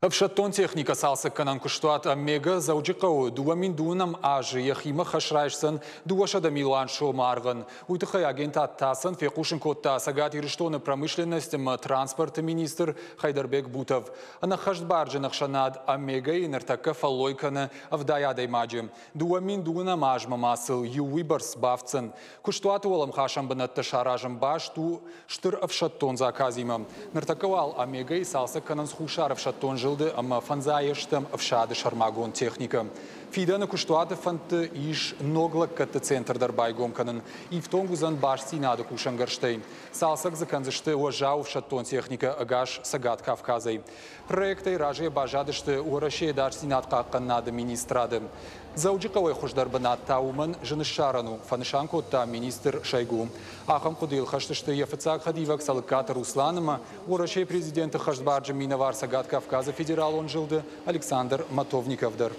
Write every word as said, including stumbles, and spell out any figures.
Ӕфсӕддон техникӕ цалцӕггӕнӕн куыстуат «Омега» Дзӕуджыхъӕуы дыууӕ мин дыууынӕм азы йӕхимӕ хӕс райсдзӕн дыууӕсӕдӕ милуан сомы аргъӕн. Уый тыххӕй агентад ТАСС-ӕн фехъусын кодта Цӕгат Ирыстоны промышленность ӕмӕ транспорты министр Хайдарбек Бутов. Ӕнӕххӕстбарджын ӕхсӕнад «Омега»-йы ныртӕккӕ фӕллой кӕны ӕвдай адӕймаджы. Дыууӕ мин дыууынӕм азмӕ ма сыл иу уыйбӕрц бафтдзӕн. Куыстуаты уӕлӕмхасӕн бынӕттӕ саразын баст у стыр ӕфсӕддон заказимӕ. Ныртӕккӕ уал «Омега»-йы цалцӕг кӕнынц Хуссар ӕфсӕддон зылды ӕмӕ фӕндзайӕстӕм ӕфсады сӕрмагонд техникӕ. Фидӕны куыстуаты фӕндты ис ног лӕггӕдты центр дӕр байгом кӕнын. Ифтонг уыдзӕн бастдзинады кусӕнгӕрзтӕй. Цалцӕг дзы кӕндзысты уӕззау ӕфсӕддон техникӕ ӕгас Цӕгат Кавказӕй. Проектӕй разыйӕ баззадысты Уӕрӕсейы ӕдасдзинад хъахъхъӕнынады министрады. Дзӕуджыхъӕуӕй хуыздӕр бынат та уымӕн зын ссарӕн у, фӕнысан кодта министр Шойгу. Ахӕм хъуыдыйыл хӕст сты йӕ фыццаг хӕдивӕг Цӕлыккаты Руслан ӕмӕ Уӕрӕсейы президенты хӕстбарджын минӕвар Цӕгат Кавказы федералон зылды Александр Матовников дӕр.